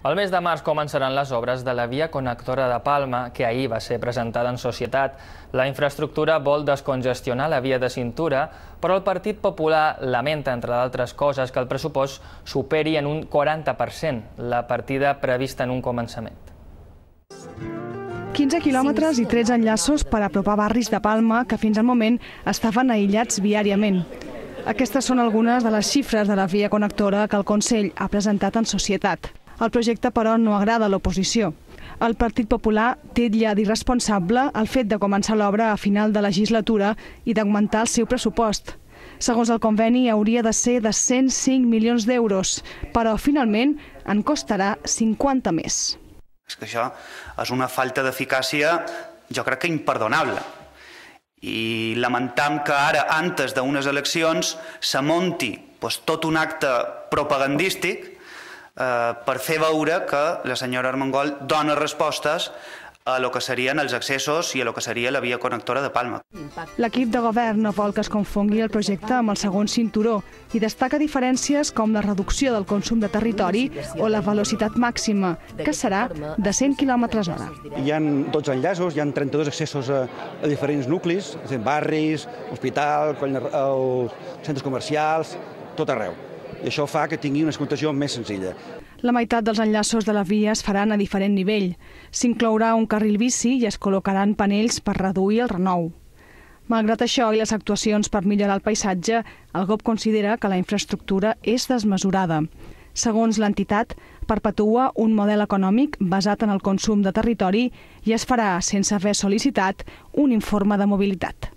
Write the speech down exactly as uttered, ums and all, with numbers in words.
El mes de març començaran les obres de la via connectora de Palma, que ahir va ser presentada en societat. La infraestructura vol descongestionar la via de cintura, però el Partit Popular lamenta, entre d'altres coses, que el pressupost superi en un quaranta per cent la partida prevista en un començament. quinze quilòmetres i tretze enllaços per apropar barris de Palma que fins al moment estaven aïllats viàriament. Aquestes són algunes de les xifres de la via connectora que el Consell ha presentat en societat. El projecte, però, no agrada a l'oposició. El Partit Popular titlla d'irresponsable el fet de començar l'obra a final de legislatura i d'augmentar el seu pressupost. Segons el conveni, hauria de ser de cent cinc milions d'euros, però finalment en costarà cinquanta més. És que això és una falta d'eficàcia, jo crec que imperdonable. I lamentam que ara, antes d'unes eleccions, se munti tot un acte propagandístic per fer veure que la senyora Armengol dona respostes a lo que serien els accessos i a lo que seria la via connectora de Palma. L'equip de govern no vol que es confongui el projecte amb el segon cinturó i destaca diferències com la reducció del consum de territori o la velocitat màxima, que serà de cent quilòmetres hora. Hi ha dotze enllaços, hi ha trenta-dos accessos a, a diferents nuclis, barris, hospital, centres comercials, tot arreu. I això fa que tingui una explotació més senzilla. La meitat dels enllaços de la via es faran a diferent nivell. S'inclourà un carril bici i es col·locaran panells per reduir el renou. Malgrat això i les actuacions per millorar el paisatge, el G O P considera que la infraestructura és desmesurada. Segons l'entitat, perpetua un model econòmic basat en el consum de territori i es farà sense haver sol·licitat un informe de mobilitat.